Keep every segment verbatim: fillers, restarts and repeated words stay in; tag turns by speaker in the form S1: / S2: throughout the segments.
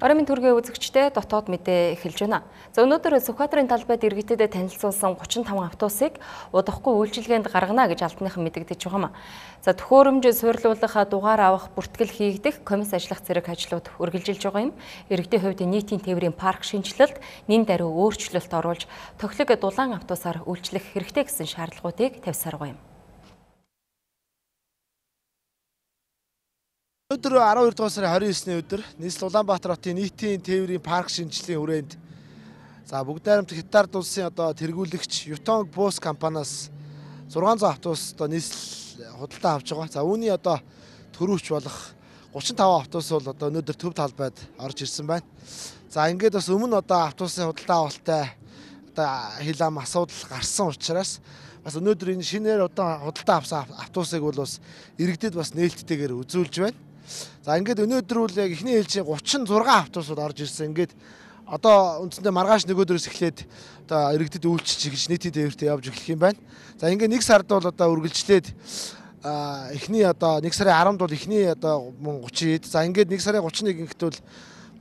S1: Орон төргийн үзэгчтэй дотоод мэдээ эхэлж байна. За өнөөдөр Сүхбаатарын талбайд иргэдэд танилцуулсан гучин таван автобусыг удахгүй үйлчилгээнд гаргана гэж албаныхан мэдэгдэж байгаа юм. За төхөөрөмж суйрлуулах, дугаар авах, бүртгэл хийгдэх, комисс ажиллах зэрэг ажлууд үргэлжилж байгаа юм. Иргэдийн хувьд нийтийн тээврийн парк шинжилэлт, нэн даруй өөрчлөлт оруулж тохилог дулаан автобусаар үйлчлэх хэрэгтэй гэсэн шаардлагуудыг тавьсаар байгаа юм.
S2: Өдөр арван хоёр дугаар сарын хорин есний өдөр нийслэл Улаанбаатар хотын нийтийн тээврийн парк шинжилгээний хүрээнд за бүгд найрамдах Хятад улсын одоо тэргүүлэгч Yutong Bus компаниас зургаан зуун автобус одоо нийслэл худалдаа авч байгаа. За үүний одоо төрүүч болох гучин таван автобус бол одоо өнөөдөр төв талбайд орж ирсэн байна. За ингээд бас өмнө одоо автобусын худалдаа авалттай одоо хил ам асуудал гарсан учраас бас өнөөдөр энэ шинээр одоо худалдаа авсан автобусыг бол бас иргэдэд бас нээлттэйгээр үзүүлж байна. За ингээд өнөөдөр үл яг эхний ээлжийн гучин зургаан автобусууд орж ирсэн. Ингээд одоо үндсэндээ маргааш нөгөөдрөөс эхлээд одоо иргэдэд үйлчилж гэж нийтийн тээвртээ явж эхлэх юм байна. За ингээд нэг сард бол одоо үргэлжлээд эхний одоо нэг сарын аравнд бол эхний одоо гучин. За ингээд нэг сарын гучин нэгт бол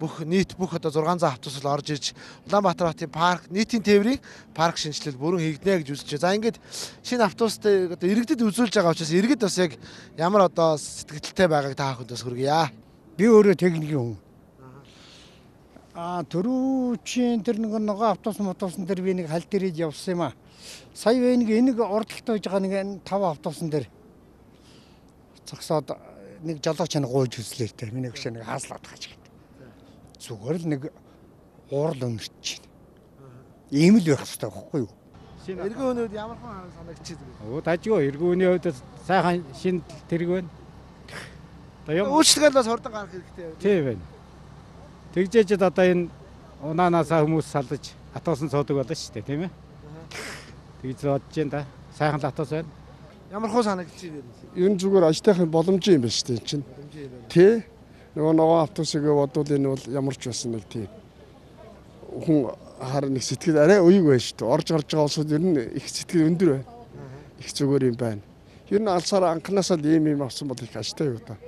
S2: бүх нийт бүх одоо зургаан зуун автобус орж ирж Улаанбаатар хотын парк нийтийн тээврийн парк шинжилэл бүрэн хийгднэ гэж үзэж байна. За ингээд шинэ автобустай одоо иргэдэд үзүүлж байгаа учраас иргэд бас яг ямар одоо сэтгэлтэй байгааг та бүхэнд бас хүргье.
S3: Би өөрөө техникийн хүн. Аа төрүүчийн тэр нэг нөгөө автобус мотосын дээр би нэг хал дээрээ явсан юм аа. Сая вэ нэг энийг урдталт байж байгаа нэг таван автобусын дээр цогсоод нэг жолооч нь гуйж үзлээтэй. Миний гүшээ нэг хааслаад гаж. Зүгээр л нэг уурал өнөрч байна. Ийм л байх хэрэгтэй байхгүй юу?
S2: Эргэн өнөөд ямар хон санагдчих вэ?
S4: Оо дажгүй эргэн өнөө өдөө сайхан шинэ тэрэг байна.
S2: Үйлчлэгээл бас хурдан гарах хэрэгтэй байна.
S4: Тийм байна. Тэгжээчд одоо энэ унаанасаа хүмүүс салж атуусан цоодог болно шүү дээ, тийм ээ? Тэгж бодож байна да. Сайхан л атуус байна.
S2: Ямар хон санагдчих вэ?
S5: Энэ зүгээр ажтайхын боломж юм байна шүү дээ чинь. Тэ? Нөгөө нөгөө автобусыг бодвол энэ бол ямар ч байсан нэг тийм хүн хараа нэг сэтгэл арай уйг байна шүү дээ. Орж гарч байгаа улсууд ер нь их сэтгэл өндөр байна. Их зүгээр юм байна. Ер нь алсаар анханасаа л ийм юм авсан бол их ажтай юу та.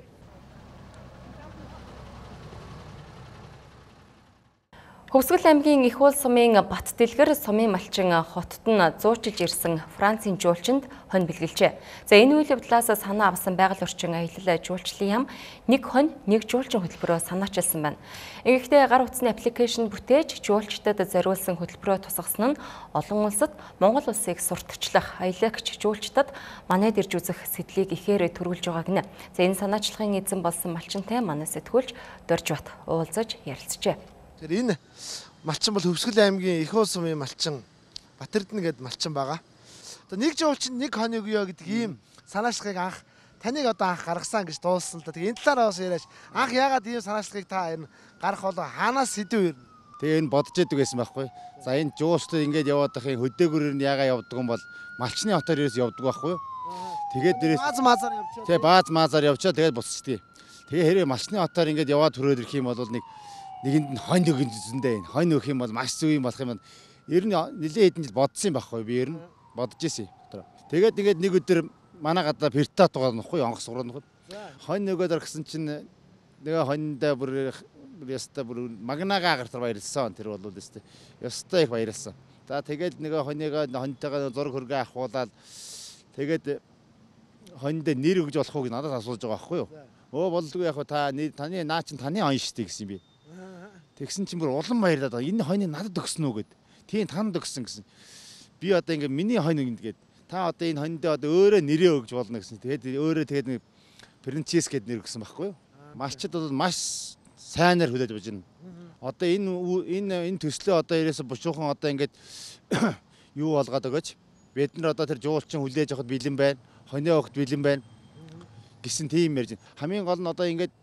S1: Хөвсгөл аймгийн Их уул сумын Бат Дэлгэр сумын малчин хотод нь зуучилж ирсэн Францын жуулчинд хонь бэлгэлжээ. За энэ үйл явдлаас санаа авсан байгаль орчин аялал жуулчлалын яам нэг хонь нэг жуулчин хөтөлбөрөөр санаачилсан байна. Ингэхдээ гар утасны аппликейшн бүтээж жуулчдад зориулсан хөтөлбөрөөр тусгасан нь олон улсад Монгол улсыг сурталчлах аялагч жуулчдад манайд ирж үзэх сэтлийг ихээр төрүүлж байгаа гинэ. За энэ санаачлагын эзэн болсон малчинтай манай сэтгүүлч Доржбат уулзаж ярилцжээ.
S2: Тэр энэ малчин бол Хөвсгөл аймгийн Их уул сумын малчин Батэрдэн гэдэг малчин байгаа. Одоо нэг жуулчин нэг хонь өгөө гэдэг ийм санаачлагыг анх таныг одоо анх гаргасан гэж дуулсан л да. Тэгээ энэ талаараа бас яриач. Анх яагаад ийм санаачлагыг та энэ гарах болоо хаанаас сэдв ирнэ?
S6: Тэгээ энэ бодож идэг байсан байхгүй. За энэ жуулчдад ингэж яваад байхын хөдөөгөрөөр нь яагаад явдаг юм бол малчны хотоор ерөөс явдаг байхгүй. Тэгээд дээрээс
S2: бааз маазаар явчихаа.
S6: Тэгээ бааз маазаар явчаа тэгээд буцчихдээ. Тэгээ хэрэг малчны хотоор ингэж яваад төрөөд ирэх юм бол нэг нэгэнд нь хонь өгөн зүсэндээ энэ хонь өгөх юм бол маш зөв юм болох юм. Ер нь нэлээд хэдэн жил бодсон юм байхгүй би ер нь бодож ирсэн. Тэгээд тэгээд нэг өдөр манай гадаа пертат байгаа нөхгүй онгоц сургууль нөхөд. Хонь нөгөөдөр гисэн чинь нөгөө хоньдаа бүр яста бүр магнагаа гартар баярлсан тэр бол өстэй. Ястай их баярлсан. За тэгээд нөгөө хоньёогоо хоньтойгоо зураг хөргөө ахуулаад тэгээд хоньд нэр өгж болох уу гэж надад асууж байгаа байхгүй юу? Өө болдгүй яг та таны наа чин таны хонь штий гэсэн би. Тэгсэн чинь бүр улам баярлаад байгаа. Энэ хоньыг надад өгсөн үү гэд. Тийм танд өгсөн гэсэн. Би одоо ингээ миний хонь ингээд та одоо энэ хоньд одоо өөрөө нэрээ өгж болно гэсэн. Тэгээд өөрөө тэгээд нэг принцесс гэд нэр өгсөн байхгүй юу? Малчид бол маш сайнаар хүлээж авч байна. Одоо энэ энэ энэ төслөө одоо ерөөсө бушуухан одоо ингээд юу болгоод өгөөч. Бид нар одоо тэр жуулчин хүлээж авахд бэлэн байна. Хоньоо өгөхд бэлэн байна. Гэсэн тийм ярьж байна. Хамгийн гол нь одоо ингээд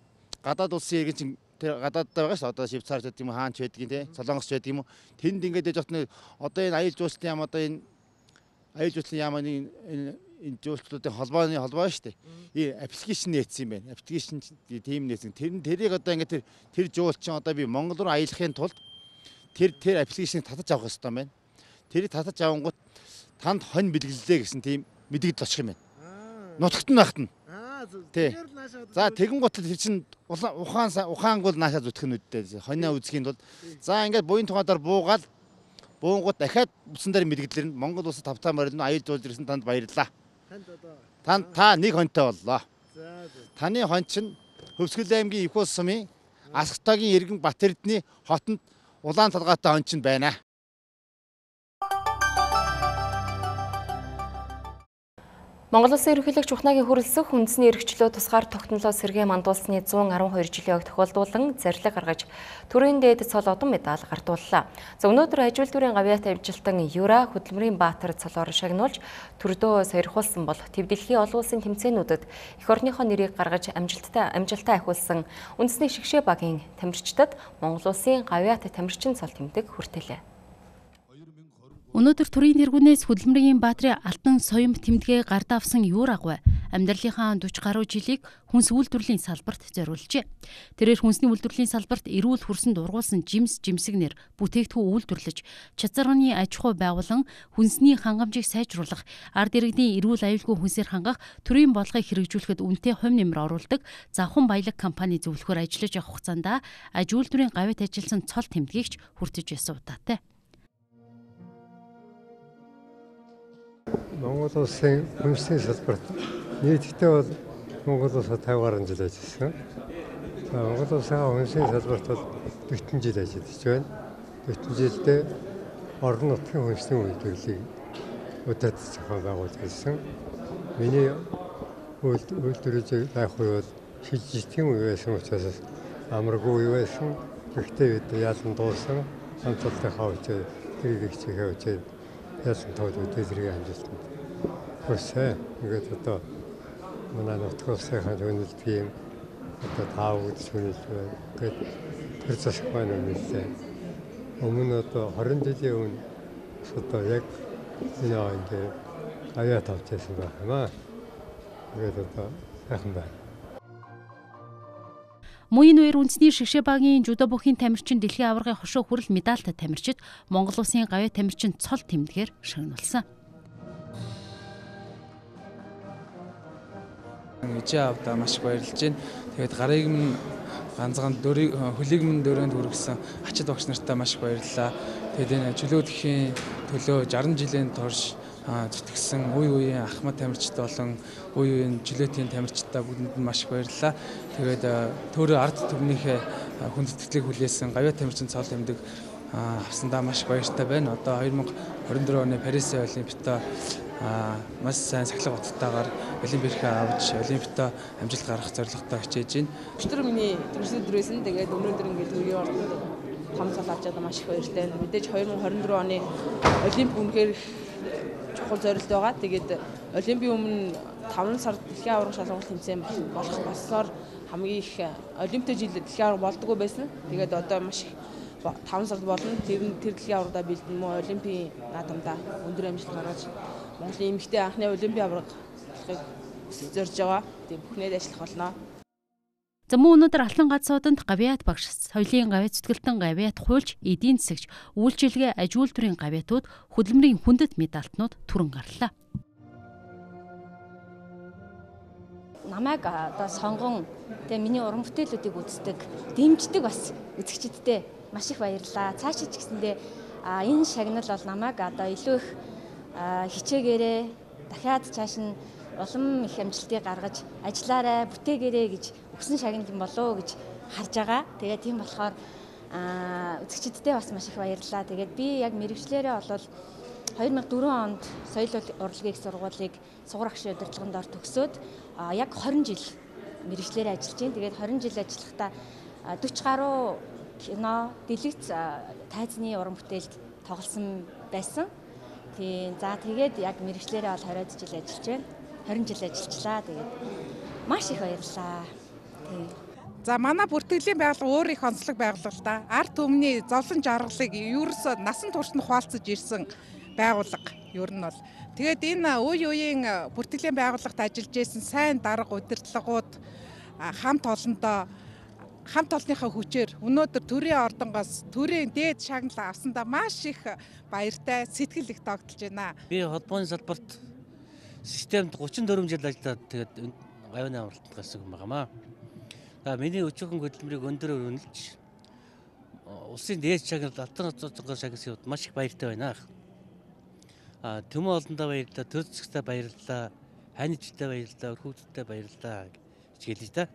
S6: гадаад улсын иргэн чинь тэр гадаадтай байгаа ш одоо Швейцарч гэдэг юм хаанч байдаг юм те Солонгос ч байдаг юм тэнд ингээд яж хат одоо энэ аял жуулчлалын яам одоо энэ аял жуулчлалын яам энэ энэ жуулчлалуудын холбооны холбоо шүү дээ. Аппликейшн нээсэн юм байна. Аппликейшн тийм нээсэн. Тэр тэрийг одоо ингээд тэр тэр жуулчин одоо би Монгол руу аялахын тулд тэр тэр аппликейшнийг татаж авах хэрэгтэй байна. Тэрийг татаж авангууд танд хонь бэлгэллээ гэсэн тийм мэдэгдэл очих юм байна. Нутагт нь багтана. Тий. За тэгэн гутал тэр чинь ухаан ухаангуул наашаа зүтгэх нь үдтэй. Хоньоо үзхийн тулд за ингээд буян тухайдаар буугаад буунгууд дахиад бусан дээр мэрэгдлэр нь Монгол улсад тавтаа морилно аюул жуулж ирсэн танд баярлалаа. Танд та нэг хоньтой боллоо. Таны хон чинь Хөвсгөл аймгийн их улс сумын Асхтагийн Иргэн Батэрдний хотонд улаан толгойтой хон чинь байна.
S1: Монгол Улсын ерөнхийлөгч Ухнагийн хүрэлцэх үндэсний эрхчлөө тусгаар тогтнолоо сэргээ мандуулсны зуун арван хоёр жилийн огт тохиолдуулан зарлиг гаргаж төрийн дээд цол одон медаль гартууллаа. За өнөөдөр ажил дүрийн гавьяат амжилтан Юра Хөдөлмөрийн Баатар цолоор шагнуулж төрдөө сойрхуулсан бол төв дэлхийн олон улсын тэмцээнүүдэд эх орныхоо нэрийг гаргаж амжилттай амжилтаа ахиулсан үндэсний шигшээ багийн тамирчдад Монгол Улсын гавьяат тамирчин цол тэмдэг хүртэлээ.
S7: Өнөөдөр төрийн тэргүүнээс Хөдөлмөрийн Баатарын алтан соём тэмдгээ гард авсан Юр агуй амьдралынхаа дөрвөн гаруй жилийг хүнс үйлдвэрлэлийн салбарт зориулжээ. Тэрээр хүнсний үйлдвэрлэлийн салбарт эрүүл хүрсэн дургуулсан жимс жимсэгнэр бүтээгдэхүүн үйлдвэрлэж, чацарганы аж ахуй байгуулан хүнсний хангамжийг сайжруулах, ард иргэдийн эрүүл аюулгүй хүнсээр хангах, төрийн бодлогыг хэрэгжүүлэхэд үнэтэй хувь нэмэр оруулдаг Завхан баялаг компани зөвлөхөөр ажиллаж явах хугацаанд аж үйлдвэрийн гавьяат ажилласан цол тэмдгийгч хүртэж байсан удаатай.
S8: Монгол Улсын хүнсний салбарт нийтдээ бол Монгол Улсад тавь гаруй жил ажилласан. Монгол Улсын хүнсний салбарт бол дэвтэн жил ажиллаж байна. дэвтэн жилдээ орон нутгийн хүнсний үйлдвэрлэлийг удаад зохион байгуулж ирсэн. Миний үйлдвэрлэж байх үе бол шилжилтийн үе байсан учраас амаргүй үе байсан. Гэхдээ бид яалан дуусан хамталтынхаа хүчээр тэрийг хичээхээ хүчээр яасан тоод үдээлрийн амжилтанд хүрсэн. Ингээд одоо манай нутгийн улсынхаа төлөвлөлтийн одоо таав гэж хүнэлж байна. Ингээд тэр засаг байна үнэлээ. Өмнө одоо хорин жилийн өмнө одоо яг энэ ингээд аяа тавьчихсан байх юм аа. Ингээд одоо сайхан байна.
S7: Муйн үер үндэсний шигшээ багийн жүдо бүхийн тамирчин дэлхийн аваргын хошуу хүрэл медальтай тамирчид Монгол Улсын гавьяат тамирчин цол тэмдгээр шагнуулсан.
S9: Ижээ авдаа маш их баярлж байна. Тэгээд гарыг минь ганцхан дөрийг хөлийг минь дөрөнд хүргэсэн ачид багш нартаа маш их баярлалаа. Тэгээд энэ чөлөөдхийн төлөө шаран жилийн турш зүтгэсэн үе үеийн ахмад тамирчид болон үе үеийн чөлөөтийн тамирчдаа бүгдэнд нь маш их баярлалаа. Тэгээд төөрөө ард түмнийхээ хүндэтгэлийг хүлээсэн гавьяат тамирчин цол тэмдэг авсандаа маш их баяртай байна. Одоо хоёр мянга хорин дөрөв оны Парис Олимпиадаа маш сайн сахилга баталтайгаар Олимпиадаа авч Олимпиадаа амжилт гаргах зорилготой хичээж байна.
S10: Өчтөр миний төрсөн дөрөөс нь тэгээд өнөөдөр ингээд төрийн ордонд том цол авч байгаа маш их баяртай байна. Мэдээж хоёр мянга хорин дөрөв оны Олимп үнэхээр чухал зорилт байгаа. Тэгээд Олимпийн өмнө таван сард дэлхийн аварга шалгуулалт тэмцээн болох болсоор хамгийн их Олимпиад жил дэлхийн аварга болдгоо байсан. Тэгээд одоо маш их таван сард болно. Тэр тэр дэлхийн аваргадаа бэлдэн мөн Олимпийн наадамдаа өндөр амжилт гаргаж Монголын эмэгтэй анхны Олимпийн аварга болохыг зорж байгаа. Тэгээд бүхнээд ажиллах болно.
S7: За мөн өнөөдөр Алтан гацсууданд гавьяат багш, соёлын гавьяат зүтгэлтэн гавьяат хуульч, эдийн засагч, үйлчилгээ аж үйлдвэрийн гавьяатууд хөдөлмөрийн хүндэт медальтнууд түрэн гарлаа.
S11: Намайг одоо сонгон тэгээ миний уран бүтээлүүдийг үздэг, дэмждэг бас үзэгчдтэй маш их баярлалаа. Цаашаа ч гэсэндээ энэ шагнал бол намайг одоо илүү их хичээгээрээ дахиад цааш нь улам их амжилтыг гаргаж ажиллаарай, бүтээгээрэй гэж өгсөн шагнал болоо гэж харж байгаа. Тэгээд тийм болохоор үзэгчдтэй бас маш их баярлалаа. Тэгээд би яг мэрэгчлэрээ болол хоёр мянга дөрвөн онд соёл урлагийн их сургуулийг сугар агшийн удирдлагын дор төгсөөд яг хорин жил мэрэгчлэрээ ажиллаж байна. Тэгээд хорин жил ажиллахдаа дөрвөн гаруй кино, дэлгэц тайзны уран бүтээлд тоглосон байсан. Тийм. За тэгээд яг мэрэгчлэрээ бол двадцать жил ажиллаж байна. хорин жил ажиллажлаа. Тэгээд маш их баярлалаа. Тийм.
S12: За манай бүртгэлийн байгууллага өөр их онцлог байгууллага л да. Ард түмний зовлон жаргалыг ерөөсөө насан туршид хуваалцаж ирсэн байгууллага ер нь бол. Тэгээд энэ үе үеийн бүртгэлийн байгууллагт ажиллаж исэн сайн дарга удирдлагууд хамт олондоо хамт олонныхаа хүчээр өнөөдөр төрийн ордонгоос төрийн дээд шагнал авсандаа маш их баяртай, сэтгэл их тогтолж байна.
S13: Би холбооны салбарт системд гучин дөрвөн жил ажиллаад тэгээд гавьны амралтанд гарсан юм байнамаа. За миний өчүүхэн хөдөлмөрийг өндөр өрнөлж улсын дээд шагнал алтан цоцгоо шагнасан хувьд маш их баяртай байна. А төмөн олондоо баярлалаа, төр зэсгтэй баярлалаа, хайнчтай баярлалаа, өрхөвдөлтэй баярлалаа гэж хэлье та.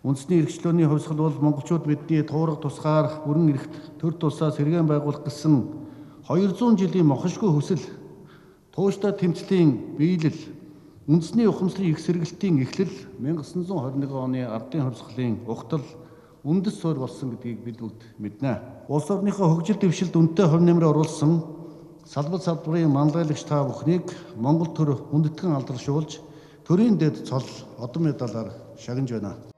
S14: Үндэсний эрхчлөөний хувьсгал бол монголчууд бидний туурга тусгаар бүрэн эрхт төр тусаа сэргээн байгуулах гэсэн хоёр зуун жилийн мохошгүй хүсэл, тууштай тэмцлийн биелэл, үндэсний ухамсарын их сэргэлтийн эхлэл мянга тосон хорин нэгэн оны ардын хувьсгалын ухтал үндэс суурь болсон гэдгийг бид бүгд мэднэ. Улс орныхоо хөгжил дэвшилд үнэтэй хувь нэмрээ оруулсан салбар салбарын манлайлагч та бүхнийг Монгол төр хүндэтгэн алдаршуулж төрийн дэд цол одон медалаар шагнаж байна.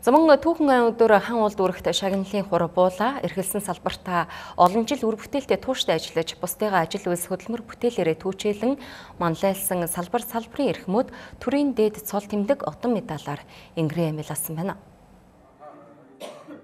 S1: Замун түүхэн айн өдөр хан улд үрэгт шагналын хур буула эрхэлсэн салбартаа олон жил үр бүтээлтэй тууштай ажиллаж бусдыгаа ажил үйлс хөдөлмөр бүтээлээрээ түүчээлэн манлайлсан салбар салбарын эрхмүүд төрийн дээд цол тэмдэг отон медалаар ингэрээ амилсан байна.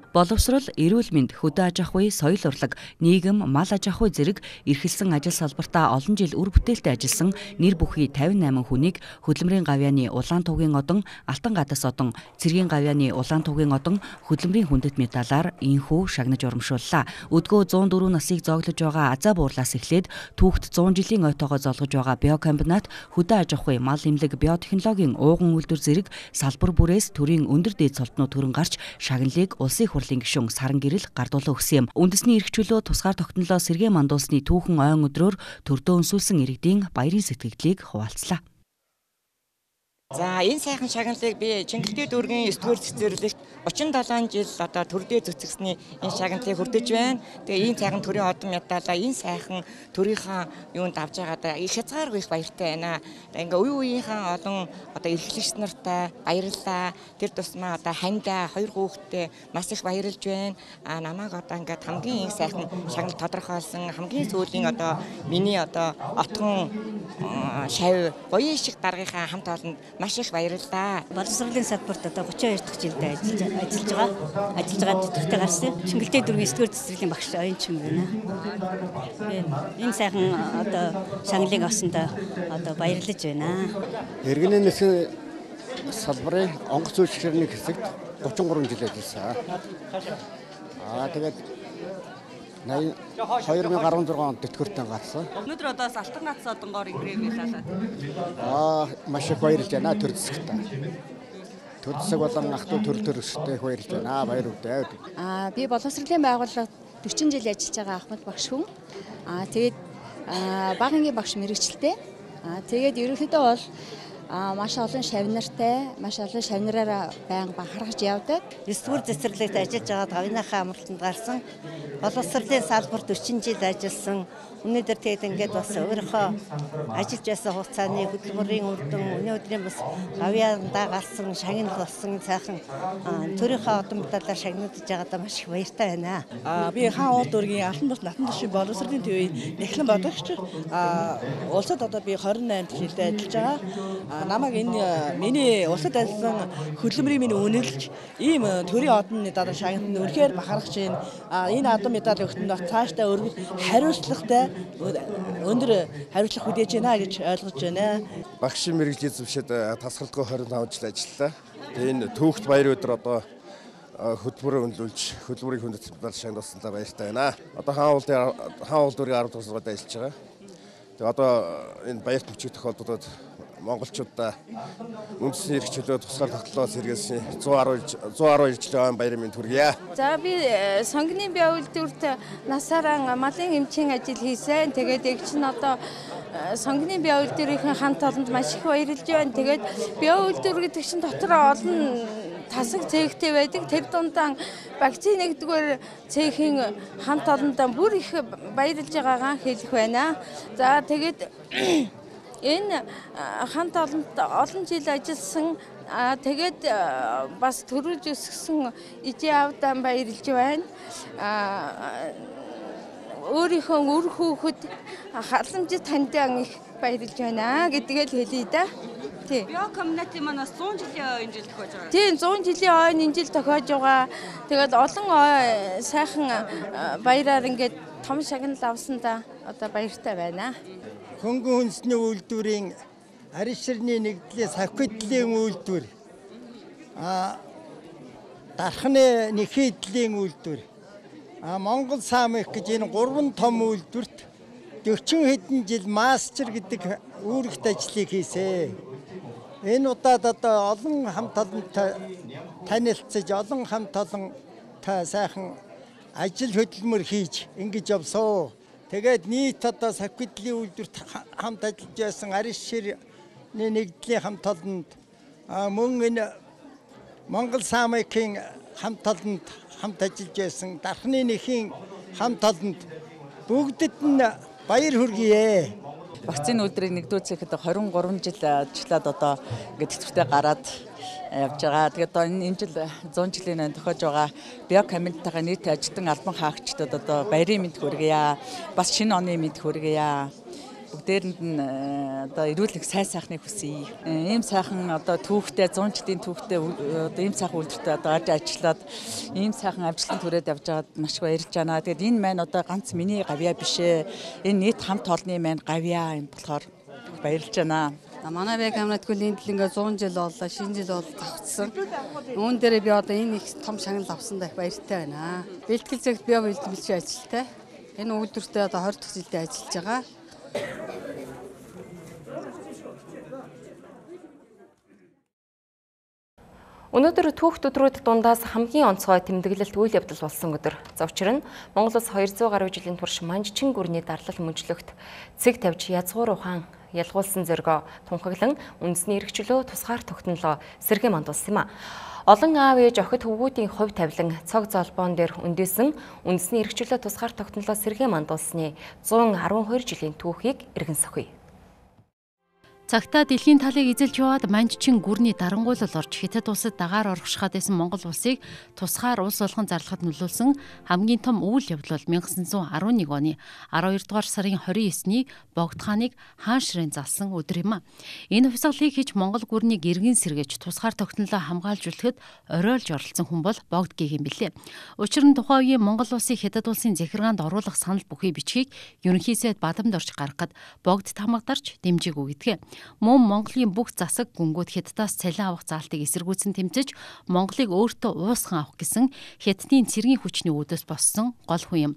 S15: Боловсрол, эрүүл мэнд, хөдөө аж ахуй, соёл урлаг, нийгэм, мал аж ахуй зэрэг эрхэлсэн ажил салбартаа олон жил үр бүтээлтэй ажилласан нэр бүхий тавин найман хүнийг хөдөлмөрийн гавьяаны улаан тугийн одон, алтан гадас одон, цэргийн гавьяаны улаан тугийн одон, хөдөлмөрийн хүндэт медалаар инхүү шагнаж урамшууллаа. Өдгөө зуун дөрвөн насыг зооглож байгаа азаа буурлаас эхлээд түүхт зуун жилийн ойтоогоо золгож байгаа биокомбинат, хөдөө аж ахуй, мал эмнэлэг, биотехнологийн ууган үйлдвэр зэрэг салбар бүрээс төрийн өндөр дээд цолтнууд төрөн гарч шагналыг улсын хурлын гишүүн Саран Гэрэл гардуулан өгсөн юм. Үндэсний эрх чөлөө тусгаар тогтнолоо сэргээ мандуулсны түүхэн ойн өдрөөр төрдөө өнсүүлсэн иргэдийн баярын сэтгэлдлийг хуваалцлаа.
S16: За энэ сайхан шагналыг би Чингэлтэй дүүргийн эсдүгээр цэцэрлэгт очин долоон жил одоо төрдөө зүтгэсний энэ шагналыг хүрдэж байна. Тэгээ энэ сайхан төрийн одон медалаа энэ сайхан төрийнхаа юунд авч байгаадаа их хязгааргүй их баяртай байна. Ингээ үе үеийнхаа олон одоо эрхлэгч нартай баярлалаа. Тэр тусмаа одоо хандаа хоёр хүүхэдтэй маш их баярлж байна. А намайг одоо ингээ хамгийн их сайхан шагнал тодорхойлсон хамгийн сүүлийн одоо миний одоо отгон шав гоё шиг даргийнхаа хамт олонд маш их баярлалаа.
S17: Боловсролын салбарт одоо гучин хоёр дахь жилдээ ажиллаж ажиллаж байгаа. Ажиллаж байгаа төдөлтэй гарсан. Чингэлтэй дүүргийн эсдүгээр цэцэрлэгийн багш оюунчин байна. Энэ сайхан одоо шагналыг авсандаа одоо баярлаж байна.
S3: Иргэний нисэх салбарын онгоц үйлчлэгчний хэсэгт гучин гурван жил ажилласан. Аа тэгээд хоёр мянга арван зургаан онд тэтгэвртэй гарсан.
S18: Өнөөдөр одоо алтан гац одонгоор ингрэв байлаа.
S3: Аа маш их баярлж байна төр зэсгтээ. Төр зэсэг болон ах トゥ төр төрөстэй баярлж байна. Баяр үдээ.
S19: Аа би боловсролын байгууллагад дөрвөн жил ажиллаж байгаа Ахмад багш хүн. Аа тэгээд багангийн багш мэрэгчлээ. Аа тэгээд ерөнхийдөө бол А маш олон шавнартай, маш олон шавнараараа байнга бахархаж явдаг.
S17: эсдүгээр цэцэрлэгт ажиллаж байгаа гавьяаныхаа амралтанд гарсан. Боловсролын салбарт дөрвөн жил ажилласан. Өнөөдөр тэгээд ингээд бас өөрийнхөө ажиллаж байсан хугацааны хөдөлмөрийн үр дүн өнөөдрийн бас гавьяандаа гарсан шагнал болсон сайхан төрийнхөө одон медалаар шагнагдж байгаадаа маш их баяртай байна.
S10: А би хаан уул дүүргийн алтан бус натан тушийн боловсролын төвийн нэхлэн бодогч. А улсад одоо би хорин наймд жилдээ ажиллаж байгаа. Намайг энэ миний улсад ажилласан хөдөлмөрийн минь үнэлж ийм төрийн одон медалаар шагнад нь үнэхээр бахархаж байна. А энэ одон медаль өгтөнд цаашдаа өргөл хариуцлагатай өндөр хариуцлага хүлээж байна гэж ойлгож байна.
S20: Багшийн мэргэжлийн зөвшөөд тасралтгүй хорин таван жил ажиллалаа. Тэгээ энэ түүхт баяр өдөр одоо хөдөлмөрөөр өнлүүлж хөдөлмөрийн хүндэт медаль шагнуулсандаа баяртай байна. Одоо хаан уул дээр хаан уул дүүргийн арав дахь сургуульд ажиллаж байгаа. Тэгээ одоо энэ баярт мөчиг тохиолдолд монголчуудаа үндэсний эрх чөлөө тусгаар тогтлоо сэргээсэн зуун арван жилийн баярын мэнд хүргье.
S21: За би сонгины бие үйлдвэрт насаараа малын эмчийн ажил хийсэн. Тэгээд эгч нь одоо сонгины бие үйлдвэрийн хамт олонд маш их баярлж байна. Тэгээд бие үйлдвэр гэдэг чинь дотор олон тасаг цэгтэй байдаг. Тэр дундаа вакцины нэгдүгээр цэхийн хамт олондоо бүр их баярлж байгаагаа хэлэх байна. За тэгээд энэ хамт олонд олон жил ажилласан тэгээд бас төрүүлж өсгсөн ижаавдаа баярлж байна. Өөрийнхөө үр хүүхэд халамжит таньдан их баярлж байна гэдгийг хэлье да. Тий.
S18: Био комьюнити манаас зуун жилийн ойн жил тохиож байгаа.
S21: Тийм зуун жилийн ойн энэ жил тохиож байгаа. Тэгээд олон сайхан баяраар ингээд том шагнал авсандаа одоо баяртай байна.
S4: Хөнгөн хүнсний үйлдвэрийн арьс ширний нэгдлээс хавхидлын үйлдвэр, а дархны нэхийдлийн үйлдвэр, а Монгол Самих гэж энэ гурван том үйлдвэрт дөрвөн хэдэн жил мастер гэдэг үүрэгт ажлыг хийсэн. Энэ удаад одоо олон хамт олонтой танилцж, олон хамт олонтой сайхан ажил хөдөлмөр хийж ингэж явсан. Тэгээд нийт одоо сахидлын үйлдвэрт хамт ажиллаж байсан арьс ширний нэгдлийн хамт олонд мөн энэ Монгол Самикийн хамт олонд хамт ажиллаж байсан дархны нэхийн хамт олонд бүгдэд нь баяр хүргэе.
S22: Вакцины үйлдвэрийг нэгдүүлэхэд двадцать три жил ажиллаад одоо ингээд тэтгэвртэй гараад явж байгаа. Тэгээд одоо энэ жил зуун жилийн тохиож байгаа био комьюнитигаа нийт ажилтан албан хаагчдад одоо баярын мэд хүргье. Бас шинэ оны мэд хүргье. Бүгдээрэнд нь одоо эрүүл их сайн сайхныг хүсье. Ийм сайхан одоо түүхтэй зуун жилийн түүхтэй одоо ийм сайхан үйлдвэртэй одоо ажиллаад ийм сайхан амжилтанд хүрээд явж байгаад маш их баярлж байна. Тэгээд энэ маань одоо ганц миний гавьяа биш ээ. Энэ нийт хамт олонны маань гавьяа юм болохоор баярлж байна.
S23: Манай бие камнатгүй энэ ингээ зуун жил боллоо, шинэ жил бол завцсан. Үүн дээр би одоо энэ их том шагнал авсандаа их баяртай байна. Бэлтгэл зэгт био бэлтгэл ажилтай. Энэ үйлдвэртээ одоо двадцать дахь жилдээ ажиллаж байгаа.
S1: Өнөөдөр түүх өдрүүд дундаас хамгийн онцгой тэмдэглэлт үйл явдал болсон өдөр. За учир нь Монгол улс хоёр зуун гаруй жилийн турш Манжчин гүрний дарлал мөнжлөгт цэг тавьж язгуур ухаан ялгуулсан зоргоо тунхаглан үндэсний эрхчлөө тусгаар тогтнолоо сэргээн мандуулсан юм а. Олон аав ээж охид хөвгүүдийн хувь тавилан цог золбоон дээр өндөөсөн үндэсний эрхчлөө тусгаар тогтнолоо сэргээн мандуулсны зуун арван хоёр жилийн түүхийг эргэн сөхье.
S7: Цагтаа дэлхийн талыг эзэлж яваад Манжчин гүрний дарангуйлал орж Хятад улсад дагаар орхишгаад байсан Монгол улсыг тусгаар улс болгон зарлахад нөлөөлсөн хамгийн том үйл явдал бол 천ix арван нэг оны аравдугаар дугаар сарын хорин есний Богд хааныг хаан ширээн залсан өдөр юм а. Энэ хувьсгалыг хийж Монгол гүрнийг эргэн сэргээж тусгаар тогтнолоо хамгаалж үлдэхэд оройлж оролцсон хүн бол Богд гэх юм билээ. Учир нь тухайн үеийн Монгол улсыг Хятад улсын захиргаанд оруулах санал бүхий бичгийг ерөнхий сайд бадамд орж гаргахад Богд тамгадарч дэмжээг өгдөг. Мөн Монголын бүх засаг гүнгүүд Хятадаас цалин авах заалтыг эсэргүүцэн тэмцэж Монголыг өөртөө уусган авах гэсэн Хятадын цэргийн хүчний үүдээс боссон гол хүн юм.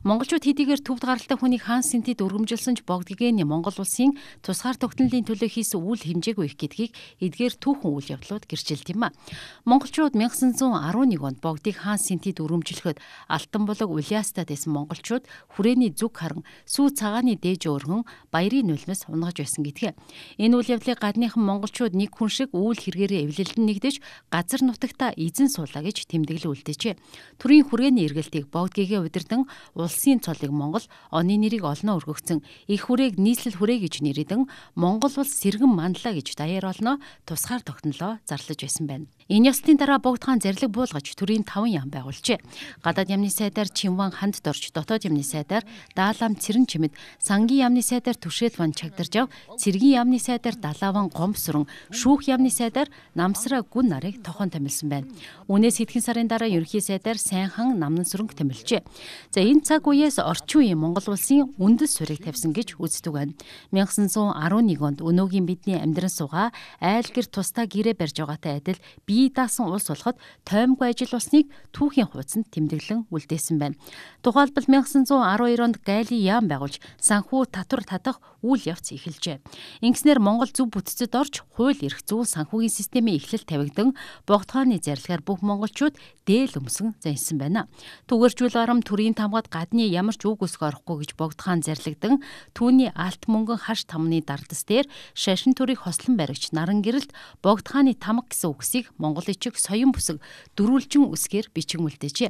S7: Монголчууд хэдийгээр төвд гаралтай хүнийг хаан сэнтэд өргөмжилсөн ч Богд гэгэний Монгол улсын тусгаар тогтнолын төлөө хийсэн үйл хэмжээгүй их гэдгийг эдгээр түүхэн үйл явдлууд гэрчилд юм а. Монголчууд 천ix арван нэг онд Богдыг хаан сэнтэд өргөмжлөхөд Алтан булаг Улиастад байсан монголчууд хүрээний зүг харан сүү цагааны дээж өргөн баярын нулимс унгаж байсан гэдгээ. Энэ үйл явдлыг гадныхан монголчууд нэг хүн шиг үйл хэрэгээрээ эвлэлдэн нэгдэж газар нутагта эзэн суулаа гэж тэмдэглэл үлдээжээ. Төрийн хүрээний эргэлтийг Богд гэгээ удирдан улсын цолыг Монгол оны нэрийг олноо өргөгцөн их хүрээг нийслэл хүрээ гэж нэрийдэн Монгол улс сэргэн манлаа гэж даяар олноо тусгаар тогтнолоо зарлаж байсан байна. Энэ ёслолтын дараа Богд хаан зарлиг буулгаж төрийн таван яам байгуулжээ. Гадаад яамны сайдаар Чинван ханд дорж, дотоод яамны сайдаар Даалам Цэрэн чимэд, сангийн яамны сайдаар Түшээлван чагдарж ав, цэргийн яамны сайдаар Далаван гомсрон, шүүх яамны сайдаар Намсраа гүн нарыг тохон томилсон байна. Үүнээс хэдхэн сарын дараа ерөнхий сайдаар Сайнхан Намнан сүрэнг томилжээ. За энэ цаг үеэс орчин үеийн Монгол улсын үндэс суурийг тавьсан гэж үздэг байна. 천ix арван нэг онд өнөөгийн бидний амьдран суугаа айл гэр тусдаа гэрээ барьж байгаатай адил бие даасан улс болоход тоймгүй ажил болсныг түүхийн хуудсанд тэмдэглэн үлдээсэн байна. Тухайлбал 천ix арван хоёр онд Гайли яам байгуулж санхүү татвар татах үйл явц эхэлжээ. Ингэснээр Ингэснээр Монгол зөв бүтцэд орж хууль эрх зүйн санхүүгийн системийн эхлэл тавигдан богдохооны зарилгаар бүх монголчууд дээл өмсөн зансан байна. Түгэржүүл ором төрийн тамгад гадны ямар ч үг өсгө орохгүй гэж богдохоон зарилгдан түүний алт мөнгөн хаш тамны дардас дээр шашин төрийг хослон баригч наран гэрэлт богдохооны тамга гэсэн үгсийг монгол ичиг соён бүсэг дөрвөлжин үсгээр бичиг үлдээжээ.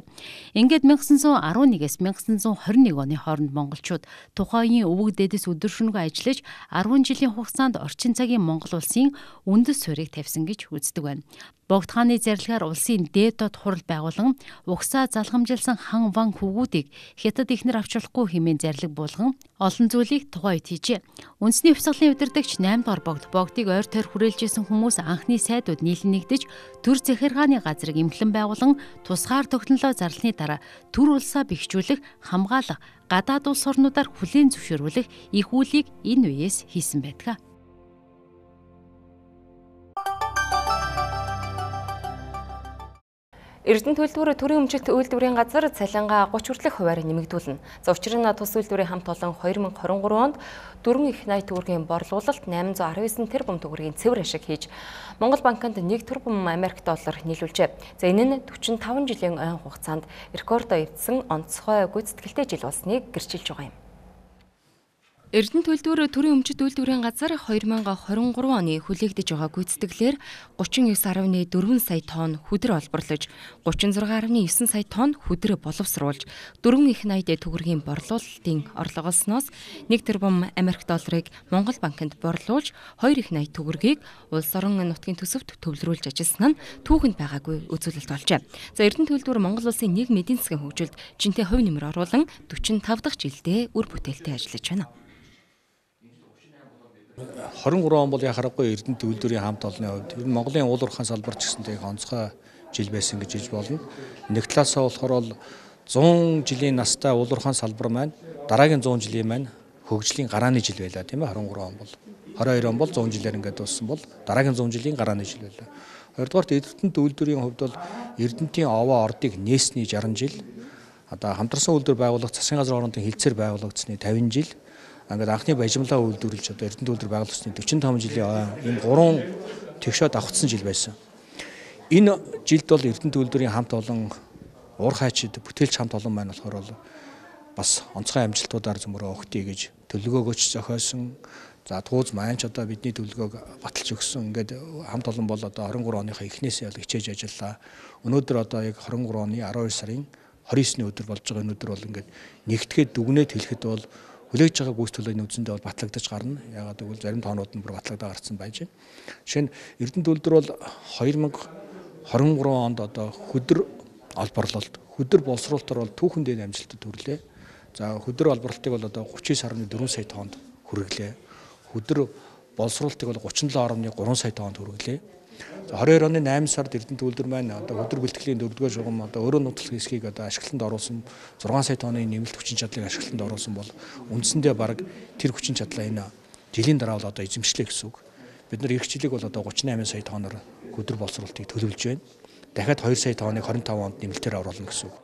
S7: Ингээд 천구 арван нэгээс 천구 хорин нэг оны хооронд монголчууд тухайн өвөг дэдэс өдөр шөнөгүй ажиллаж арван жилийн хугацаанд орчин цагийн Монгол улсын үндэс суурийг тавьсан гэж үздэг байна. Богдохооны зарилгаар улсын дээд доод хурал байгуулан угсаа залхамжилсан хан ван хүүгүүдийг хятад ихнэр авч болохгүй хэмээн зарлиг буулган олон зүйлийг тухайн үед хийжээ. Үндэсний хувьсгалын удирдагч найм дахь богд богдыг ойр тойр хүрээлжсэн хүмүүс анхны сайдууд нийлэн нэгдэж төр захиргааны газрыг эмхлэн байгуулан тусгаар тогтнолоо зарлсны дараа төр улсаа бэхжүүлэх, хамгаалах, гадаад улс орнуудаар хүлээн зөвшөөрүүлэх их үйлийг энэ үеэс хийсэн байдаг.
S1: Эрдэнэ төлөвлөрө төрийн өмчлөлт үйлдвэрийн газар цалингаа гуч хүртэлх хувиар нэмэгдүүлнэ. За учир нь тус үйлдвэрийн хамт олон хоёр мың хорин гурван онд дөрвөн их найт төгрөгийн борлуулалт восемьсот араван девять тэрбум төгрөгийн цэвэр ашиг хийж Монгол банкнд нэг тэрбум Америк доллар нийлүүлжээ. За энэ нь forty five жилийн ойн хугацаанд рекордо эвдсэн онцгой гүйцэтгэлтэй жил болсныг гэрчилж байгаа юм. Эрдэнэ төлөвлөрө төрийн өмчит үйлдвэрийн газар two thousand twenty-three оны хүлээгдэж байгаа гүйцэтгэлээр thirty-nine point four сая тонн хүдэр олборлож, thirty-six point nine сая тонн хүдэр боловсруулж, дөрвөн их найд төгрөгийн борлуулалтын орлогоосноос нэг тэрбум Америк долларыг Монгол банкнд борлуулж, хоёр их найд төгрөгийг улс орон нутгийн төсөвт төвлөрүүлж ажилласан нь түүхэнд байгаагүй үзүүлэлт болжээ. За Эрдэнэ төлөвлөрө Монгол улсын нийгмийн эдийн засгийн хөгжилд жинтэй хувь нэмэр оруулан forty-five дахь жилдээ үр бүтээлтэй ажиллаж байна.
S2: twenty-three он бол яхахгүй Эрдэнэ төлөвлөрийн хамт олонны хувьд ер нь Монголын уул уурхайн салбар ч гэсэнтэй онцгой жил байсан гэж хэлж болно. Нэг талаасаа болохоор бол one hundred жилийн настай уул уурхайн салбар маань дараагийн one hundred жилийн маань хөгжлийн гарааны жил байлаа тийм ээ twenty-three он бол. twenty-two он бол one hundred жилээр ингээд дууссан бол дараагийн one hundred жилийн гарааны жил байлаа. Хоёрдугаарт Эрдэнэ төлөвлөрийн хувьд бол Эрдэнэтийн овоо ордыг нээсний sixty жил, одоо хамтарсан үйлдвэр байгуулах засгийн газрын хоорондын хилцээр байгуулагдсны fifty жил, ингээд анхны бажимлаа үйлдвэрлэж одоо Эрдэнэ төлөвлөр байгуулагдсны forty-five жилийн ойн ийм гурван тэгшээд авахсан жил байсан. Энэ жилд бол Эрдэнэ төлөвлөрийн хамт олон уур хайчид бүтээлч хамт олон маань болохоор бол бас онцгой амжилтуудаар зөмөрөө өгтий гэж төлөвлөгөөгөөч зохиосон. За тууз маань ч одоо бидний төлөвлөгөөг баталж өгсөн. Ингээд хамт олон бол одоо twenty-three оныхаа эхнээсээ бол хичээж ажиллаа. Өнөөдөр одоо яг twenty-three оны twelve сарын twenty-nine-ний өдөр болж байгаа. Өнөөдөр бол ингээд нэгтгэхэд дүгнээд хэлэхэд бол хүлээж байгаа гүйц төлөвийн үзэндээ бол батлагдаж гарна. Ягаад гэвэл зарим тоонууд нь бүр батлагдаа гарсан байж байна. Жишээ нь Эрдэнэ төлөвлөр бол twenty twenty-three онд одоо хөдөр олборлолт, хөдөр боловсруулалтаар бол түүхэн дэд амжилтад хүрлээ. За хөдөр олборлолтыг бол одоо thirty-nine point four сая тоннд хүргэлээ. Хөдөр боловсруулалтыг бол thirty-seven point three сая тоннд хүргэлээ. За twenty-two оны eight сард Эрдэнэ төлөвлөр маань одоо хөдөр бэлтгэлийн дөрөвдүгээр шугам одоо өөрөө нутаг хэсгийг одоо ашиглалтанд оруулсан six сая тонны нэмэлт хүчин чадлыг ашиглалтанд оруулсан бол үндсэндээ бараг тэр хүчин чадлаа энэ жилийн дараа бол одоо эзэмшлээ гэсэн үг. Бид нар эх жилиг бол одоо thirty-eight сая тонноор хөдөр боловсруулалтыг төлөвлөж байна. Дахиад two сая тонныг twenty-five онд нэмэлтээр оруулна гэсэн үг.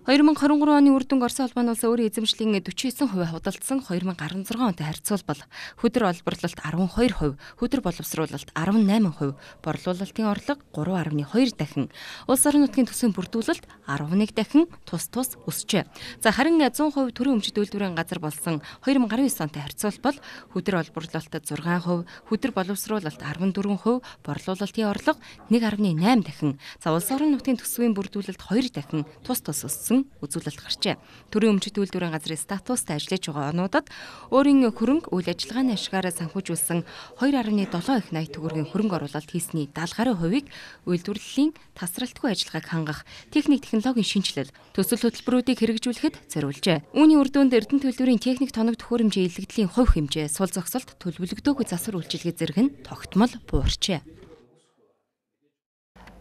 S1: twenty twenty-three оны үр дүнг Орос улс улс өөрийн эзэмшлийн forty-nine percent худалдсан twenty sixteen онтой харьцуулбал хөдөр олборлолт twelve percent, хөдөр боловсруулалт eighteen percent, борлуулалтын орлого three point two дахин, улс орон нутгийн төсвийн бүрдүүлэлт eleven дахин тус тус өсжээ. За харин one hundred percent төрийн өмчит үйлдвэрийн газар болсон twenty nineteen онтой харьцуулбал хөдөр олборлолтод six percent, хөдөр боловсруулалт fourteen percent, борлуулалтын орлого one point eight дахин, за улс орон нутгийн төсвийн бүрдүүлэлт two дахин тус тус өссөн үзүүлэлт гарчээ. Төрийн өмчит үйлдвэрийн газрын статустай ажиллаж байгаа онуудад өөрийн хөрөнгө үйл ажиллагааны ашгаараа санхүүжүүлсэн two point seven их найт төгрөгийн хөрөнгө оруулалт хийсний seventy гаруй хувийг үйлдвэрлэлийн тасралтгүй ажиллагааг хангах техник технологийн шинжилэл, төсөл хөтөлбөрүүдийг хэрэгжүүлэхэд зориулжээ. Үүний үр дүнд Эрдэнэ төлөвлөрийн техник тоног төхөөрөмжийн илэгдлийн хувь хэмжээ, сул зогсолт, төлөвлөгдөөгүй засвар үйлчилгээ зэрэг нь тогтмол буурчээ.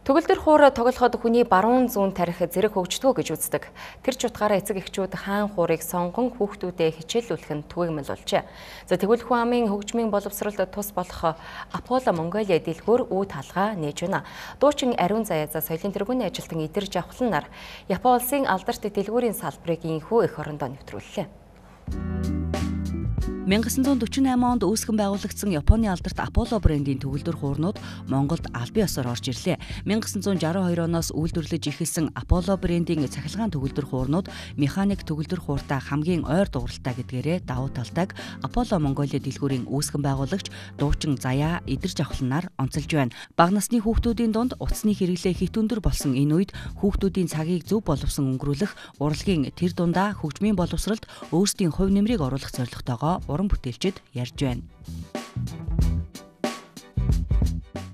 S1: Төгөлдөр хуур тоглоход хүний баруун зүүн тарих зэрэг хөгждгөө гэж үздэг. Тэр ч утгаараа эцэг эхчүүд хаан хуурыг сонгон хүүхдүүдэд хичээлүүлэх нь түгээмэл болжээ. За тэгвэл хүн амын хөгжмийн боловсролд тус болох Аполло Монголиа дэлгүүр үе талгаа нээж байна. Дуучин Ариун Заяа за соёлын тэргүүний ажилтан Идэр Жавхлан нар Япон улсын алдарт дэлгүүрийн салбарыг инхүү эх орондоо нэвтрүүллээ.
S15: мянга зам дөрвөн eight онд үүсгэн байгуулагдсан Японы алдарт Apollo брендийн төгөлдөр хуурнууд Монголд албан ёсоор орж ирлээ. мянга зам шестьдесят two оноос үйлдвэрлэж эхэлсэн Apollo брендийн цахилгаан төгөлдөр хуурнууд механик төгөлдөр хууртай хамгийн ойр дууралтай гэдгээрээ давуу талтай Apollo Mongolia дэлгүүрийн үүсгэн байгуулагч дуучин Заяа Идэрж авахланаар онцолж байна. Бага насны хүүхдүүдийн дунд утасны хэрэглээ хит өндөр болсон энэ үед хүүхдүүдийн цагийг зөв боловсон өнгөрүүлэх урлагийн тэр дундаа хөгжмийн боловсролд өөрсдийн хувь нэмрийг оруулах зорилготойгоо уран бүтээлчид ярьж байна.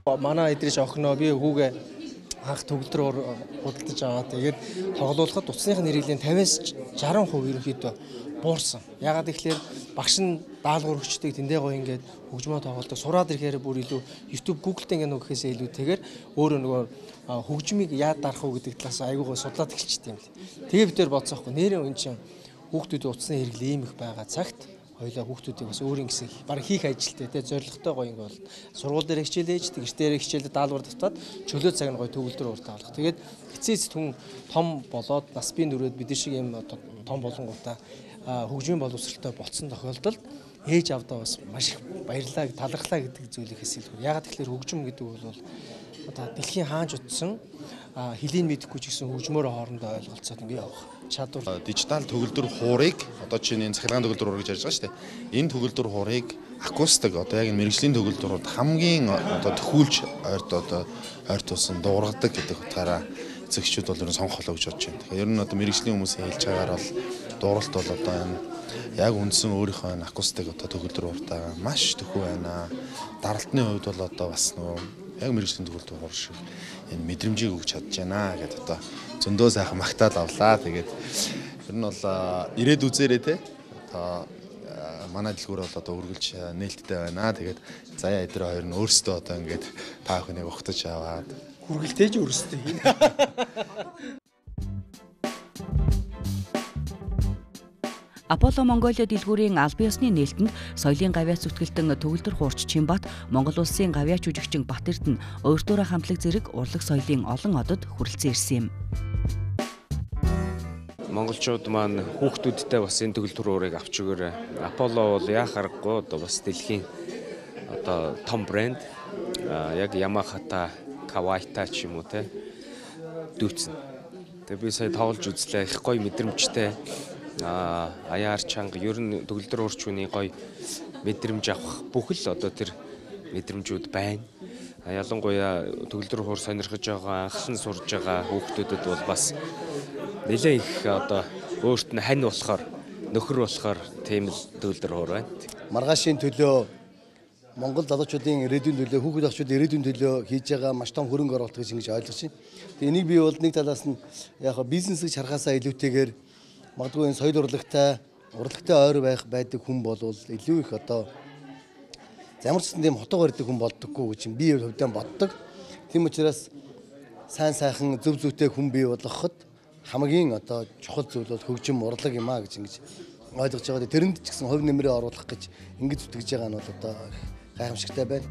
S5: Манай Идэрж охиноо би хүүгээ анх төгөлдрөөр худалдаж аваад тэгээд тоглоулахад утасны хэрэглээний fifty-аас sixty percent ерөнхийдөө буурсан. Ягаад гэвэл багш нь даалгавар өгчдөг тэндээ гоё ингээд хөгжмөө тоглолдог. Сураад ирэхээр бүр илүү YouTube, Google-тэй ингээд нөгөөхөөсөө илүүтэйгээр өөрөө нөгөө хөгжмийг яад дарах уу гэдэг талаас айгуугаа судлаад эхэлчихсэн юм л. Тэгээ бид тээр бодсоохгүй. Нэрээ үн чинь хүүхдүүдийн утасны хэрэглээ ийм их байгаа цагт хоёлаа хүүхдүүдийг бас өөрийн гэсэн баг хийх ажилтай те зоригтой гоё ингэ бол сургууль дээр хичээл ээж тэгш дээр хичээлээ даалгавар давтаад чөлөө цаг нь гоё төгөлдөр урт авах. Тэгээд эцээц түн том болоод нас бие нүрээд бид шиг юм том болонгуудаа хөгжмийн боловсралтай болцсон тохиолдолд ээж авдаа бас маш их баярлаа талархлаа гэдэг зүйлээс илүүр. Ягаад тэгэхээр хөгжим гэдэг бол одоо дэлхийн хаанч утсан хэлийн мэдэхгүй ч гэсэн хөгжмөөр хоорондоо ойлголцоод ингэ явах чадвар.
S6: Дижитал төгөлдөр хуурыг одоо чинь энэ цахилгаан төгөлдөр хуур гэж ярьж байгаа шүү дээ. Энэ төгөлдөр хуурыг акустик одоо яг мэрэгжлийн төгөлдрүүд хамгийн одоо төхүүлж ойрт одоо ойрт тусан дуургадаг гэдэг утгаараа эцэгчүүд бол ер нь сонгох болоо гэж бодож байна. Тэгэхээр ер нь одоо мэрэгжлийн хүмүүсийн хэлж байгаагаар бол дууралт бол одоо энэ яг үндсэн өөрийнхөө энэ акустик одоо төгөлдөр хууртайгаа маш төхөө байна. Даралтны хувьд бол одоо бас нөгөө яг мэрэгжлийн төгөлдөр хуур шиг энэ мэдрэмжийг өгч чадж байна гэдэг одоо зөндөө сайхан магтаал авлаа. Тэгээд ер нь бол ирээд үзээрэй те. Одоо манай дэлгүүр бол одоо үргэлж нээлттэй байна. Тэгээд Заяа Идэр хоёр нь өөрсдөө одоо ингээд та бүхнийг ухтаж аваад
S5: хүргэлтээж өөрсдөө хийн.
S15: Apollo Mongolia дэлгүүрийн албан ёсны нээлтэнд соёлын гавьяас зүтгэлтэн төгөлдөр хуурч Чимбат, Монгол улсын гавьяач жүжигчин Батэрдэн өөртөөрөө хамтлаг зэрэг урлаг соёлын олон одод хүрэлцэн ирсэн юм.
S8: Монголчууд маань хүүхдүүдтэй бас энэ төгөлдөр хуурыг авч өгөөрэй. Apollo бол яа харахгүй одоо бас дэлхийн одоо том брэнд яг Yamaha-та, Kawai-та ч юм уу те дүүцэн. Тэгээ би сая тоглож үзлээ. Их гоё мэдрэмжтэй. А аяар чанга ер нь төгөлдөр хуурчны гоё мэдрэмж авах бүх л одоо тэр мэдрэмжүүд байна. Ялангуяа төгөлдөр хуур сонирхож байгаа, анхлан сурж байгаа хүүхдүүдэд бол бас нэлээд их одоо өөрт нь хань болохоор, нөхөр болохоор тийм л төгөлдөр хуур байна.
S5: Маргаашийн төлөө Монгол залуучуудын ирээдүйн төлөө, хүүхэд ахчуудын ирээдүйн төлөө хийж байгаа маш том хөрөнгө оруулалт гэж ингэж ойлгож байна. Тэгээ энийг би бол нэг талаас нь яг бизнесийг харахаасаа илүүтэйгээр магадгүй энэ соёл урлагтай, урлагтай ойр байх байдаг хүн бол илүү их одоо ямар ч тийм хотоогоор ирдэг хүн болдоггүй гэж би хувьдаа боддог. Тийм учраас сайн сайхан зөв зүйтэй хүн бий болгоход хамгийн одоо чухал зүйл бол хөгжим урлаг юм а гэж ингэж ойлгож байгаа. Тэрэнд ч гэсэн хувь нэмрээ оруулах гэж ингэж зүтгэж байгаа нь бол одоо гайхамшигтай байна.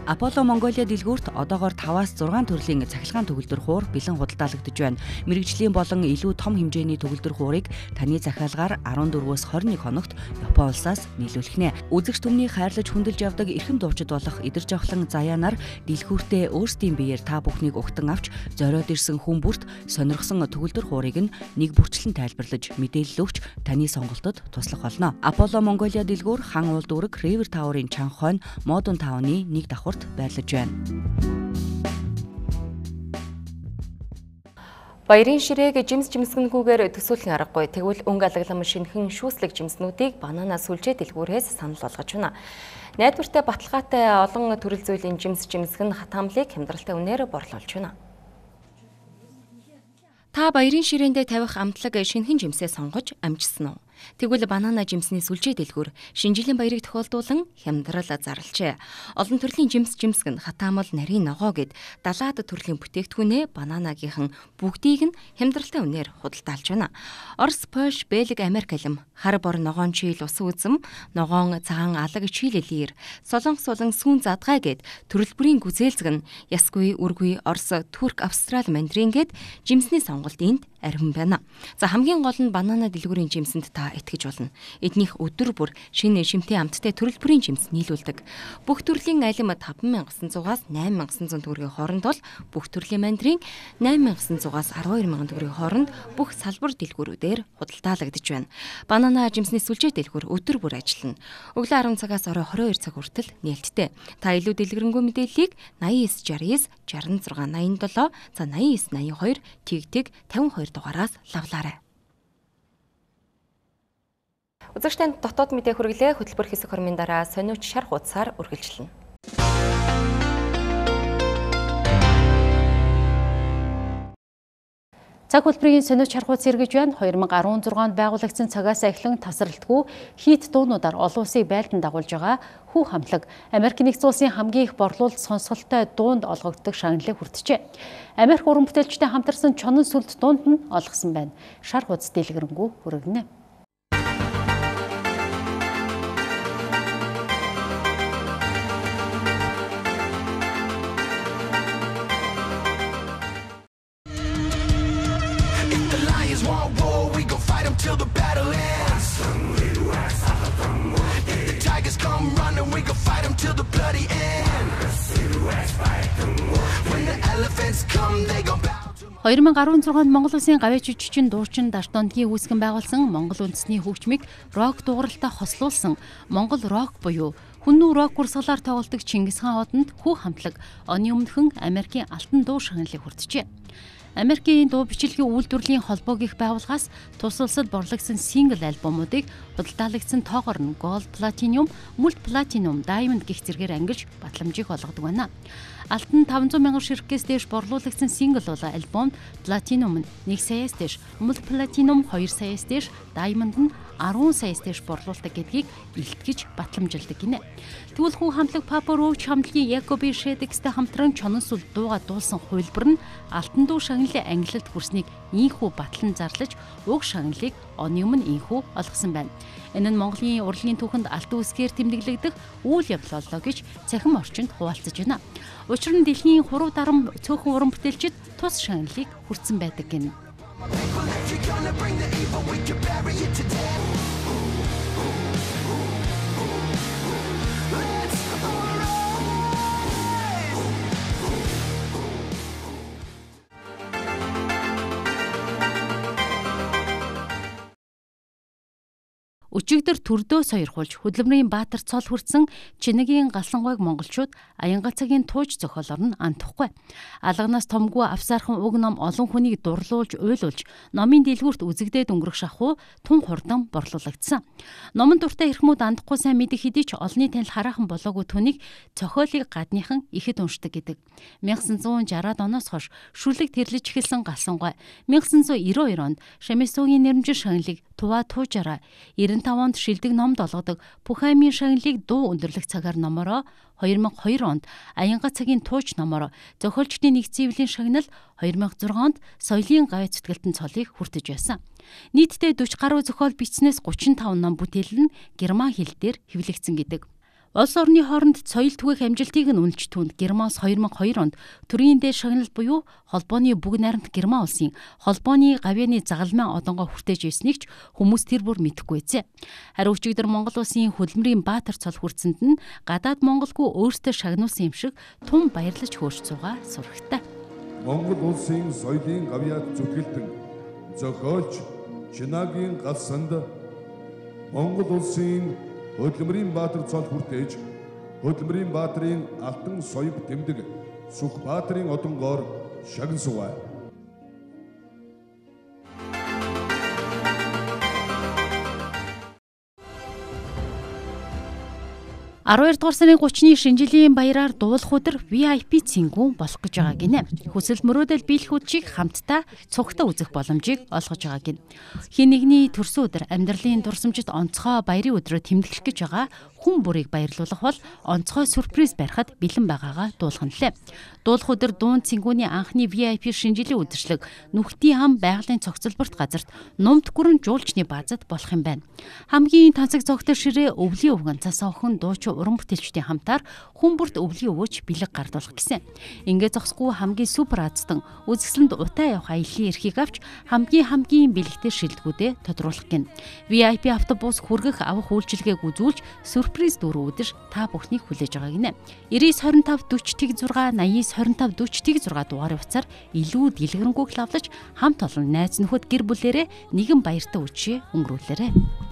S15: Apollo Mongolia дэлгүүрт одоогоор five-аас six төрлийн цахилгаан төгөлдөр хуур бэлэн худалдаалагдж байна. Мэргэжлийн болон илүү том хэмжээний төгөлдөр хуурыг таны захиалгаар fourteen-өөс twenty-one хоногт Япон улсаас нийлүүлэх нэ. Үзэгч түмний хайрлаж хүндэлж явдаг эрхэм дуучид болох Идэрж авахлан Заяанаар дэлгүүртээ өөрсдийн биеэр та бүхнийг угтан авч зориод ирсэн хүн бүрт сонирхсон төгөлдөр хуурыг нь нэг бүрчлэн тайлбарлаж мэдээлэл өгч таны сонголтод туслах болно. Apollo Mongolia дэлгүүр хан уул дүүрэг River Tower-ын чанга хойно Модон тавны нэг давхурт байрлаж байна.
S1: Баярын ширээг жимс жимсгэнгүүгээр төсөөлөх аргагүй. Тэгвэл өнгө алаглам шинхэн шүүслэг жимснүүдийг банана сүлжээ дэлгүүрээс санал болгож байна. Найдвартай баталгаатай олон төрөл зүйлийн жимс жимсгэн хатамлыг хямдралтай үнээр борлуулж байна. Та баярын ширээндээ тавих амтлаг шинхэн жимсээ сонгож амжсан уу? Тэгвэл банана жимсний сүлжээ дэлгүүр шинэ жилийн баярыг тохиолдуулан хямдрал зарлжээ. Олон төрлийн жимс жимсгэн хатаамал нарийн ногоо гэд далаад төрлийн бүтээгдэхүүнээ бананагийнхан бүгдийг нь хямдралтай үнээр худалдаалж байна. Орос, Польш, Бельги, Америк алим, хар бор ногоон чийл ус үзэм, ногоон цагаан алаг чийлэлээр, солонгос болон сүүн задгай гэд төрөл бүрийн гүзээлзэг нь ясгүй, үргүй, Орос, Турк, Австрали, Мандрин гэд жимсний сонголт энд архин байна. За хамгийн гол нь банана дэлгүүрийн жимсэнд та итгэж болно. Эднийх өдөр бүр шинэ шимтэй амттай төрөл бүрийн жимс нийлүүлдэг. Бүх төрлийн алим таван мянга девсан зугаас найман мянга девсан зуун төгрөгийн хооронд бол бүх төрлийн мандрин найман мянга девсан зугаас арван хоёр мянган төгрөгийн хооронд бүх салбар дэлгүүрүүдээр худалдаалагдж байна. Банана жимсний сүлжээ дэлгүүр өдөр бүр ажиллана. Өглөө арван цагаас орой хорин хоёр цаг хүртэл нээлттэй. Та илүү дэлгэрэнгүй мэдээллийг наян девять шестьдесят шестьдесят шестьдесят восемь восемьдесят семь за наян девять наян two тэгтэг тавин хоёр дугаараас лавлаарай. Үзэгчдэнд дотоод мэдээ хүргэлээ. Хөтөлбөр хэсэг хормын дараа сониуч шар хуудасаар үргэлжлэнэ.
S7: Цаг хөтөлбөрийн сониуч шар хуудас эргэж байна. two thousand sixteen онд байгуулагдсан цагаас эхлэн тасралтгүй хийт дуунуудаар олон улсыг байлдан дагуулж байгаа Хүү хамтлаг Америк нэгдсэн улсын хамгийн их борлуулалт сонсголтой дуунд олгогддог шагналыг хүртжээ. Америк уран бүтээлчтэй хамтарсан чонон сүлд дуунд нь олгосон байна. Шар хуудас дэлгэрэнгүй хүргэнэ.
S9: Till the battle ends. If the tigers come running, we gon' fight them till the bloody end. When the elephants come, they gon' bow to
S7: two thousand sixteen онд Монгол Улсын гавьяа жүжигчин дуучин Дартондгийн үүсгэн байгуулсан Монгол үндэсний хөгжмийг рок дууралтаа хослуулсан Монгол рок буюу хүннүү рок урсгалаар тоглодог Чингис хаан одонд Хүү хамтлаг оны өмнөхөн Америкийн алтан дуу шагналыг хүртжээ. Америкийн дуу бичлэгийн үйлдвэрлэлийн холбоог их байгууллагаас тус улсад борлогдсон сингл альбомуудыг худалдаалагдсан тоогоор нь Gold, Platinum, Multi Platinum, Diamond гэх зэргээр ангилж батламжийг олгодог байна. Алтан five hundred мянган ширхгээс дээш борлуулагдсан сингл бол альбомд Platinum нь one саяас дээш, Multi Platinum two саяас дээш, Diamond нь ten саяас дээш борлуулдаг гэдгийг илтгэж батламжилдаг гинэ. Тэгвэл Хүү хамтлаг Papa Roach хамтлагийн Jacoby Shaddix-тэй хамтран чонон сүл дууга дуулсан хувилбар нь алтан дуу шагналын ангилалд хүрснийг ийхүү батлан зарлаж уг шагналыг оны өмнө ийхүү олгосон байна. Энэ нь Монголын урлагийн түүхэнд алтан үсгээр тэмдэглэгдэх үйл явдал боллоо гэж цахим орчинд хуваалцаж байна. Учир нь дэлхийн хурав дарам цөөхөн уран бүтээлчид тус шагналыг хүртсэн байдаг гэнэ. Өчигдөр төрдөө сойрхуулж хөдөлмөрийн баатар цол хүртсэн Чинэгийн галсангойг монголчууд аянгал цагийн тууж зохиолоор нь андахгүй. Алганаас томгүй авсаархан уг ном олон хүнийг дурлуулж уйлуулж номын дэлгүүрт үзэгдээд өнгөрөх шахуу тун хурдан борлуулагдсан. Номон дуртай эрхмүүд андахгүй сайн мэдэх хэдий ч олонний танил хараахан болоогүй түүнийг цохиолыг гадныхан ихэд уншдаг гэдэг. nineteen sixty оноос хойш шүлэг тэрлэж эхэлсэн галсангой nineteen ninety-two онд Шамисуугийн нэрмжин шагналыг туваа туужаараа ninety-five онд шилдэг номд олгодог Пухаймын шагналыг дуу өндөрлөх цагаар номороо two thousand two онд аянга цагийн тууч номороо зохиолчдын нэгдсэн эвлийн шагнал two thousand six онд соёлын гавь зүтгэлтэн цолыг хүртэж байсан. Нийтдээ forty гаруй зохиол бичснээс thirty-five ном бүтээл нь герман хэл дээр хэвлэгдсэн гэдэг. Улс орны хооронд соёл түгээх амжилтыг нь үнэлж түнд Германс two thousand two онд төрийн дээд шагнал буюу холбооны бүгд найрамд Герман улсын холбооны гавьяаны загалмайн одонгоо хүртэж ирснийг ч хүмүүс тэр бүр мэдэхгүй эзэ. Харин өчигдөр Монгол улсын хөдөлмөрийн баатар цол хүртсэнд нь гадаад монголгүй өөртөө шагнуулсан юм шиг тун баярлаж хөөрч цугаа сурагтай.
S11: Монгол улсын соёлын гавьяад зүтгэлтэн зохиолч Чинагийн галсанд Монгол улсын хөдөлмөрийн баатар цол хүртээж хөдөлмөрийн баатрын алтан соёв тэмдэг Сүх баатрын одонгоор шагнасуваа.
S7: twelve дугаар сарын thirty-ны шинжилгээний баяраар дуулах өдөр ви ай пи цэнгүү болох гэж байгаа гинэ. Хүсэл мөрөөдөл биелэхүүдчийг хамтдаа цугтаа үзэх боломжийг олгож байгаа гин. Хин нэгний төрсөн өдөр амьдралын дурсамжит онцгой баярын өдрөөр тэмдэглэх гэж байгаа хүн бүрийг баярлуулах бол онцгой сюрприз барихад бэлэн байгаагаа дуулах нь лээ. Дуулах өдөр дуун цэнгүүний анхны ви ай пи шинжилгээ үдшилэг Нүхтийн хам байгалийн цогцлборт газарт Нумд гүрэн жуулчны баазад болох юм байна. Хамгийн тансаг цогтой ширээ өвлийн өвгөн цас охин дуучин уран бүтээлчдийн хамтаар хүн бүрт өвлийн өвөөч бэлэг гардуулах гэсэн. Ингээд зогсгүй хамгийн супер аздан үзэсгэлэнд утаа явах аяллаа эрхийг авч хамгийн хамгийн бэлэгтэй шилдэгүүдэд тодруулах гин. ви ай пи автобус хүргэх авах үйлчилгээг үзүүлж сюрприз дөрөв өдөр та бүхнийг хүлээж байгаа гинэ. девять two five forty six eighty-nine twenty-five forty six дугаарын утсаар илүү дэлгэрэнгүй лавлаж хамт олон найз нөхөд гэр бүлэрээ нэгэн баяртай үчи өнгөрүүлээрэй.